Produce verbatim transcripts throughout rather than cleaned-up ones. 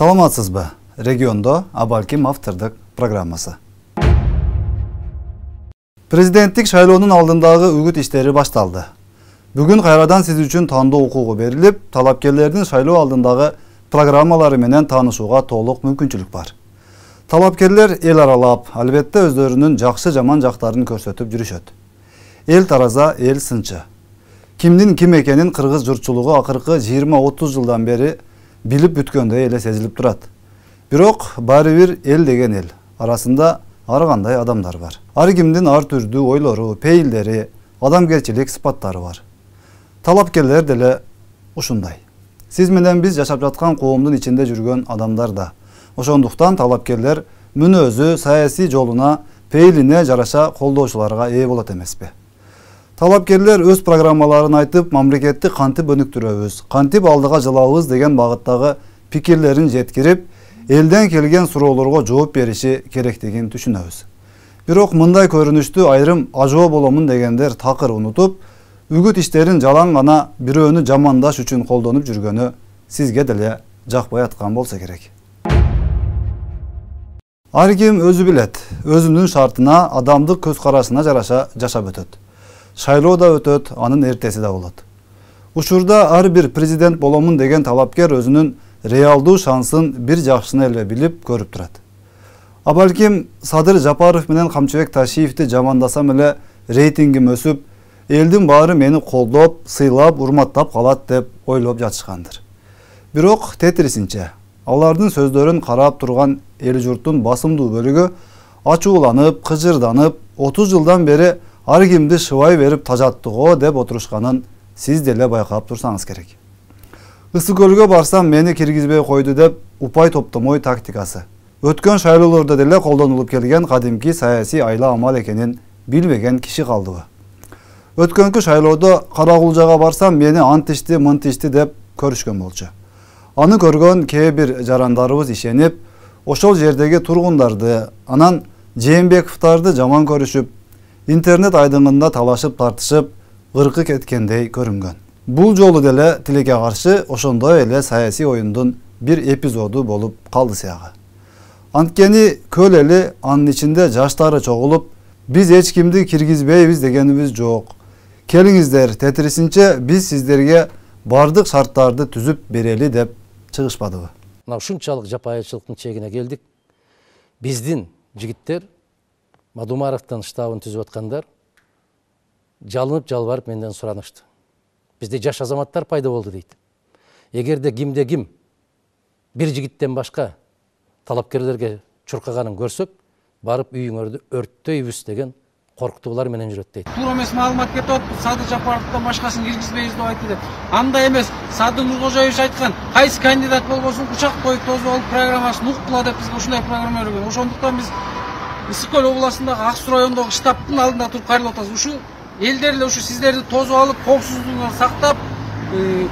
Саламатсызбы? Региондо Абалким автордук программасы. Президенттик шайлоонун алдындагы үгүт иштери башталды. Бүгүн кайрадан сиз үчүн тандоо укугу берилип, талапкерлердин шайлоо алдындагы программалары менен таанышууга толук мүмкүнчүлүк бар. Талапкерлер эл аралап, албетте өздөрүнүн жакшы жаман жактарын көрсөтүп жүрүшөт. Эл тараза, эл сынчы. Кимдин ким экенин кыргыз журтчулугу акыркы жыйырма отуз жылдан бери билип бүткөндөй эле сезилип турат. Бирок баары бир эл деген эл арасында ар кандай адамдар бар. Ар кимдин ар түрдүү ойлору, пейилдери, адамгерчилик сыпаттары бар. Талапкерлер деле ушундай. Сиз менен биз жашап жаткан коомдун ичинде жүргөн адамдар да. Ошондуктан талапкерлер мүнөзү, саясий жолуна, пейилине жараша колдоочуларга ээ болот эмеспи? Талапкерлер өз программаларын айтып, мамлекетти кантип өнүктүрөбүз, кантип алдыга жылабыз деген багыттагы пикирлерин жеткирип, элден келген суроолорго жооп бериши керектигин түшүнөбүз. Бирок мындай көрүнүштү айрым ажоо боломун дегендер такыр унутуп, үгүт иштерин жалаң гана бирөөнү жамандаш үчүн колдонуп жүргөнү сизге деле жакпай аткан болсо керек. Ар ким өзү билет, өзүнүн шартына, адамдык көз карашына жараша жашап өтөт. Шайлоо да өтөт, анын эртеси да болот. Учурда ар бир президент боломун деген талапкер өзүнүн реалдуу шансын бир жакшыны эле билип көрүп турат. А балким Садыр Жапаров менен Камчыбек Ташиевди жамандасам эле рейтингим өсүп, элдин баары мени колдоп, сыйлап, урматтап калат деп ойлоп жатышкандыр. Бирок тетрисинче, алардын сөздөрүн карап турган эл журттун басымдуу бөлүгү ачууланып, кыжырданып, отуз жылдан бери ар кимди шыбай берип тажаттыго деп отурушканын сиз деле байкап турсаңыз керек. Ысык көлгө барсам мени киргизбей койду деп упай топтомой тактикасы. Өткөн шайлоолордо деле колдонулуп келген кадимки саясий айла амал экенин билбеген киши калдыбы? Өткөнкү шайлоодо Карагулжага барсам мени антишти, мынтишти деп көрүшкөн болчу. Аны көргөн кээ бир жарандарыбыз ишенип, ошол жердеги тургундарды, анан Жээнбековдорду жаман көрүшүп, интернет айдыңында талашып тартышып, ыркы кеткендей көрүнгөн. Бул жолу деле тилекке каршы ошондой эле саясий оюндун бир эпизоду болуп калды сыягы. Анткени көл эли анын ичинде жаштары чогулуп, биз эч кимди киргизбейбиз дегенибиз жок. Келиңиздер, тетрисинче биз сиздерге бардык шарттарды түзүп берели деп чыгышпадыбы? Мына ушунчалык жапайычылыктын чегине келдик. Биздин жигиттер Мадумаровдун штабын түзүп аткандар жалынып жалбарып менден суранышты. Бизде жаш азаматтар пайда болду дейт. Эгерде кимде ким бир жигиттен башка талапкерлерге чуркаганын көрсөк, барып үйүңөрдү өрттөйбүз деген коркутуулар менен жүрөт дейт. Туура эмес маалымат кетип, Садыр Жапаровдон башкасын киргизбейбиз деп айтты деп. Андай эмес, Садыр Нуркожоевич айткан, кайсы кандидат болбосун кучак коюп тосуп алып программасын уккула деп бизге ушундай программа берген. Ошондуктан биз Ысык көл областындагы Ак Суу районундагы штабтын алдында туруп кайрылып атабыз. Ушу элдер эле ушу сиздерди тосуп алып, коопсуздугуңарды сактап,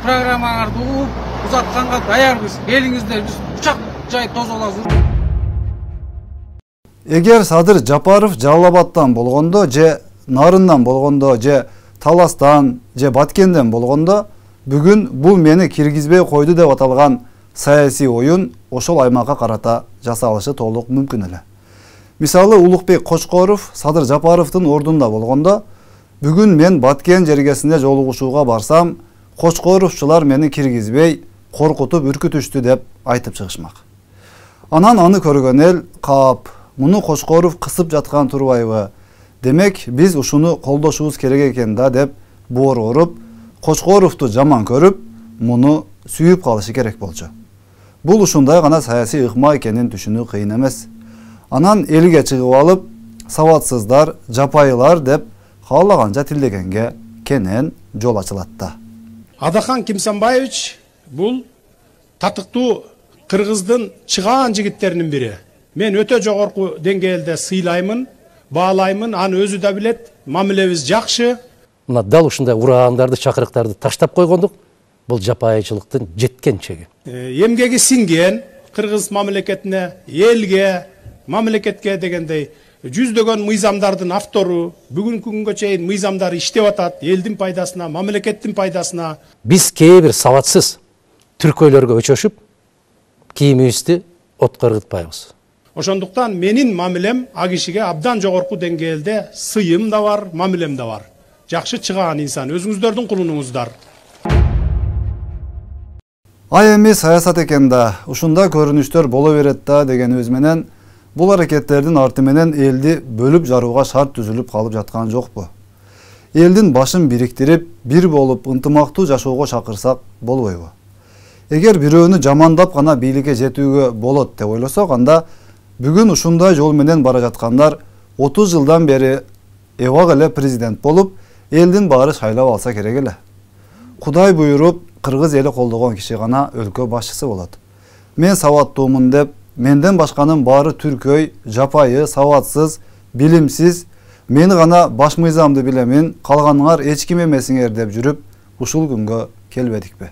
программаңарды угуп, узатканга даярбыз. Келиңиздер, биз учак жайып тосуп алабыз. Эгер Садыр Жапаров Жалал Абадтан болгондо, же Нарындан болгондо, же Таластан, же Баткенден болгондо, бүгүн бул мени киргизбей койду деп аталган саясий оюн ошол аймакка карата жасалышы толук мүмкүн эле. Мисалы Улукбек Кочкоров Садыр Жапаровдун ордунда болгондо, бүгүн мен Баткен жергесинде жолугушууга барсам, Кочкоровчулар мени киргизбей, коркутуп, үркүтүштү деп айтып чыгышмак. Анан аны көргөн эл кап, муну Кочкоров кысып жаткан турбайбы? Демек, биз ушуну колдошубуз керек экен да деп боор уруп, Кочкоровду жаман көрүп, муну сүйүп калышы керек болчу. Бул ушундай гана саясий ыкма экенин түшүнүү кыйын эмес. Анан элге чыгып алып, сабатсыздар, жапайылар деп каалаганча тилдегенге кенен жол ачылат да. Адахан Кимсанбаевич бул татыктуу кыргыздын чыгаан жигиттеринин бири. Мен өтө жогорку деңгээлде сыйлаймын, баалаймын, аны өзү да билет, мамилебиз жакшы. Мына дал ушундай ураандарды, чакырыктарды таштап койгондук, бул жапайычылыктын жеткен чеги. Эмгеги сиңген кыргыз мамлекетине, элге, мамлекетке дегендей жүздөгөн мыйзамдардын автору, бүгүнкү күнгө чейин мыйзамдар иштеп атат, элдин пайдасына, мамлекеттин пайдасына. Биз кээ бир сабатсыз түркөйлөргө өчөшүп, кийимибизди отко ыргытпайбыз. Ошондуктан менин мамилем а кишиге абдан жогорку деңгээлде сыйым да бар, мамилем да бар. Жакшы чыгаан инсан, өзүңүздөрдүн кулунуңуздар. Ай эми саясат экен да, ушундай көрүнүштөр боло берет да дегенибиз менен бул аракеттердин арты менен элди бөлүп жарууга шарт түзүлүп калып жаткан жокпу? Элдин башын бириктирип, бир болуп ынтымактуу жашоого чакырсак болбойбу? Эгер бирөөнү жамандап гана бийликке жетүүгө болот деп ойлосок, анда бүгүн ушундай жол менен бара жаткандар отуз жылдан бери эбак эле президент болуп, элдин баары шайлап алса керек эле. Кудай буйруп, кыргыз эли колдогон киши гана өлкө башчысы болот. Мен сабаттуумун деп, менден башканын баары түркөй, жапайы, сабатсыз, билимсиз, мен гана баш мыйзамды билемин, калганыңар эч ким эмесиңер деп жүрүп, ушул күнгө келбедикпи?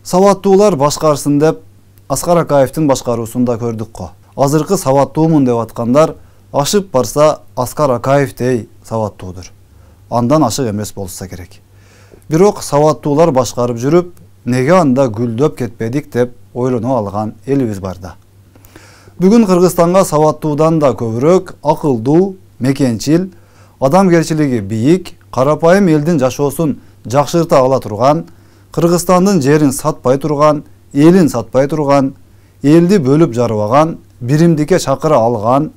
Сабаттуулар башкарсын деп, Аскар Акаевдин башкаруусунда көрдүк го. Азыркы сабаттуумун деп аткандар ашып барса Аскар Акаевдей сабаттуудур. Андан ашык эмес болса керек. Бирок сабаттуулар башкарып жүрүп, неге анда гүлдөп кетпедик деп ойлоно алган элибиз бар да. Бүгүн Кыргызстанга сабаттуудан да көбүрөөк акылдуу, мекенчил, адамгерчилиги бийик, карапайым элдин жашоосун жакшырта ала турган, Кыргызстандын жерин сатпай турган, элин сатпай турган, элди бөлүп жарбаган, биримдикке чакыра алган,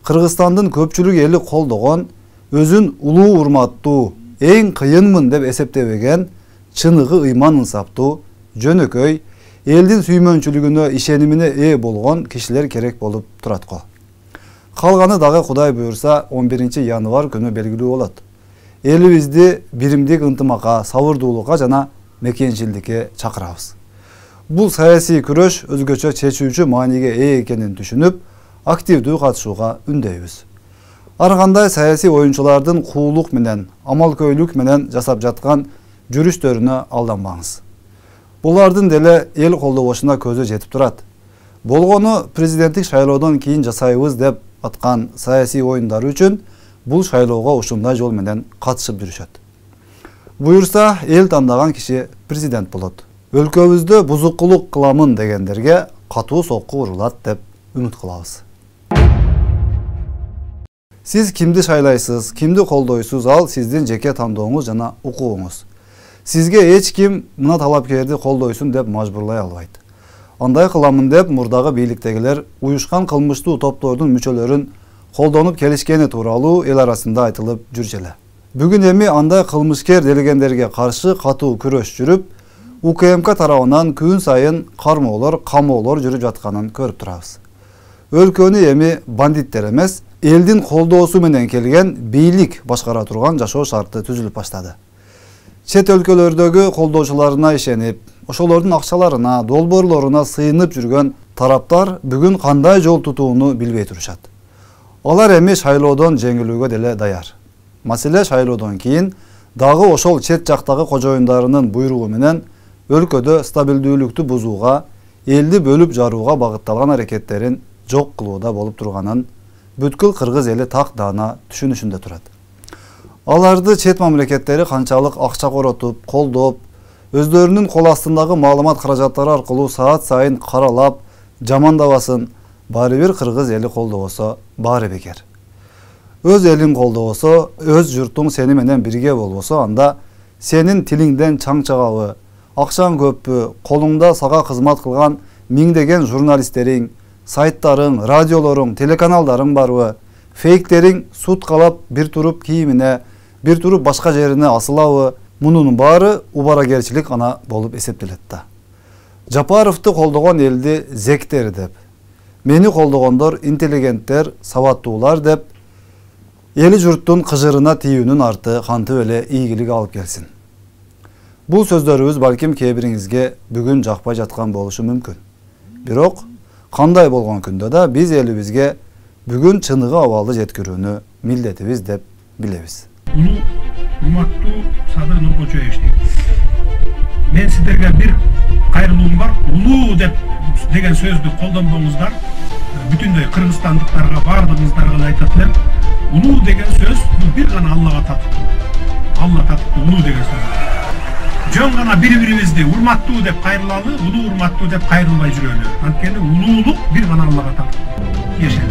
Кыргызстандын көпчүлүк эли колдогон, өзүн улуу урматтуу, эң кыйынмын деп эсептебеген, чыныгы ыйман ынсаптуу, жөнөкөй, элдин сүймөнчүлүгүнө ишенимине ээ болгон кишилер керек болуп турат го. Калганы дагы Кудай буйрса он биринчи январь күнү белгилүү болот. Элибизди биримдик ынтымакка, сабырдуулукка жана мекенчилдикке чакырабыз. Бул саясий күрөш өзгөчө чечүүчү мааниге ээ экенин түшүнүп, активдүү катышууга үндөйбүз. Ар кандай саясий оюнчулардын куулук менен, амалкөйлүк менен жасап жаткан жүрүштөрүнө алданбаңыз. Булардын деле эл колдобошуна көзү жетип турат. Болгону президенттик шайлоодон кийин жасайбыз деп аткан саясий оюндар үчүн бул шайлоого ушундай жол менен катышып жүрүшөт. Буйрса эл тандаган киши президент болот. Өлкөбүздө бузукулук кыламын дегендерге катуу сокку урулат деп үмүт кылабыз. Сиз кимди шайлайсыз, кимди колдойсуз, ал сиздин жеке тандооңуз жана укугуңуз. Сизге эч ким мына талапкерди колдойсун деп мажбурлай албайт. Андай кыламын деп мурдагы бийликтегилер уюшкан кылмыштуу топтордун мүчөлөрүн колдонуп келишкени тууралуу эл арасында айтылып жүрчү эле. Бүгүн эми андай кылмышкер делгендерге каршы катуу күрөш жүрүп, У К М К тарабынан күн сайын кармоолор, камоолор жүрүп жатканын көрүп турабыз. Өлкөнү эми бандиттер эмес, элдин колдоосу менен келген бийлик башкара турган жашоо шарты түзүлүп баштады. Чет өлкөлөрдөгү колдоочуларына ишенип, ошолордун акчаларына, долбоорлоруна сыйынып жүргөн тараптар бүгүн кандай жол тутууну билбей турушат. Алар эми шайлоодон жеңилүүгө деле даяр. Маселе шайлоодон кийин дагы ошол чет жактагы кожоюндарынын буйругу менен өлкөдө стабилдүүлүктү бузууга, элди бөлүп жарууга багытталган аракеттерин жок кылууда болуп турганын бүткүл кыргыз эли так даана түшүнүшүндө турат. Аларды чет мамлекеттери канчалык акча коротуп, колдоп, өздөрүнүн кол астындагы маалымат каражаттары аркылуу саат сайын каралап, жамандабасын, баары бир кыргыз эли колдобосо баары бекер. Өз элин колдобосо, өз журтуң сени менен бирге болбосо, анда сенин тилиңден чаң чыгабы, акчаң көппү, колуңда сага кызмат кылган миңдеген журналисттериң, сайттарың, радиолоруң, телеканалдарың барбы, фейктериң суткалап бир туруп кийимине, бир туруп башка жерине асылабы, мунун баары убарагерчилик гана болуп эсептелет да. Жапаровду колдогон элди зектер деп, мени колдогондор интеллигенттер, сабаттуулар деп, эли журттун кыжырына тийүүнүн арты кантип эле ийгилик алып келсин. Бул сөздөрүбүз балким кээ бириңизге бүгүн жакпай жаткан болушу мүмкүн. Бирок кандай болгон күндө да биз элибизге бүгүн чыныгы абалды жеткирүүнү милдетибиз деп билебиз. Улуу урматтуу Садыр Нуркочоевич, мен сиздерге бир кайрылуум бар. Улуу деп деген сөздү колдонбоңуздар. Бүтүндөй кыргызстандыктарга, баардыгыңыздарга айтат элем. Улуу деген сөз бул бир гана Аллага татыктуу. Алла татыктуу улуу деген сөз. жөн гана бири бирибизди урматтуу деп кайрылалы, улуу урматтуу деп кайрылбай жүрөлү. Анткени улуулук бир гана Аллага так. Ешен.